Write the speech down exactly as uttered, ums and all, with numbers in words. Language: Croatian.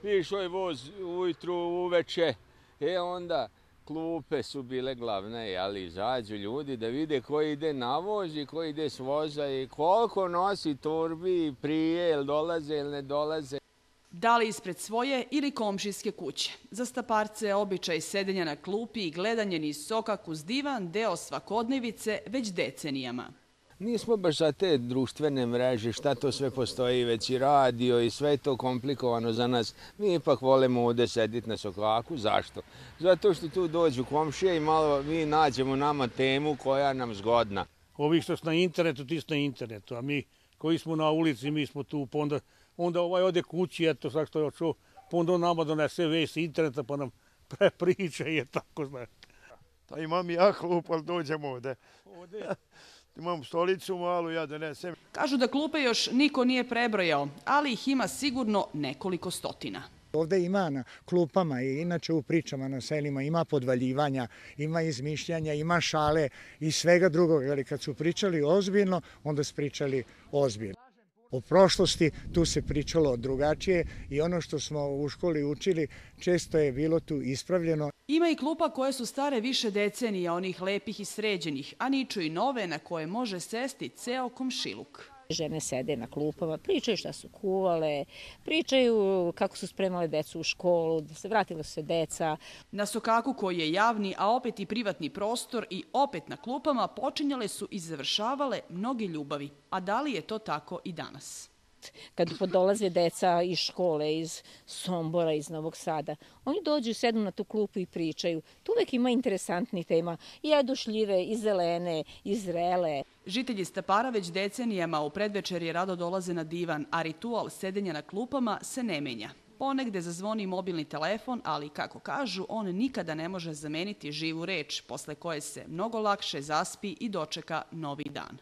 išao je voz ujutru, uveče, e onda klupe su bile glavne, ali izađu ljudi da vide ko ide na voz i ko ide s voza i koliko nosi torbi prije, ili dolaze ili ne dolaze. Da li ispred svoje ili komšijske kuće. Za Staparce je običaj sedenja na klupi i gledanje niz sokak uz divan deo svakodnevice već decenijama. Nismo baš za te društvene mreže, šta to sve postoji, već i radio i sve je to komplikovano za nas. Mi ipak volimo ovdje sediti na sokaku. Zašto? Zato što tu dođu komšije i malo mi nađemo nama temu koja nam zgodna. Ovi što su na internetu, ti su na internetu, a mi koji smo na ulici, mi smo tu, pa onda, onda ovaj ode kući, eto sad što je očuo, pa onda nama donese vest interneta pa nam prepriča i je tako, znaš. Pa imam ja klup, ali dođem ovdje. Ovdje? Imam stolicu malu, ja donesem. Kažu da klupe još niko nije prebrojao, ali ih ima sigurno nekoliko stotina. Ovdje ima na klupama i inače u pričama na selima ima podvaljivanja, ima izmišljanja, ima šale i svega drugog. Ali kad su pričali ozbiljno, onda su pričali ozbiljno. O prošlosti tu se pričalo drugačije i ono što smo u školi učili često je bilo tu ispravljeno. Ima i klupa koje su stare više decenija, onih lepih i sređenih, a niču i nove na koje može sesti ceo komšiluk. Žene sede na klupama, pričaju šta su kuvale, pričaju kako su spremale decu u školu, da se vratilo se deca. Na sokaku koji je javni, a opet i privatni prostor i opet na klupama počinjale su i završavale mnoge ljubavi. A da li je to tako i danas? Kad podolaze deca iz škole, iz Sombora, iz Novog Sada, oni dođu, sednu na tu klupu i pričaju. Tu uvek ima interesantnih tema, i jedušljive, i zelene, i zrele. Žitelji Stapara već decenijama u predvečerje rado dolaze na divan, a ritual sedenja na klupama se ne menja. Ponegde zazvoni mobilni telefon, ali kako kažu, on nikada ne može zameniti živu reč, posle koje se mnogo lakše zaspi i dočeka novi dan.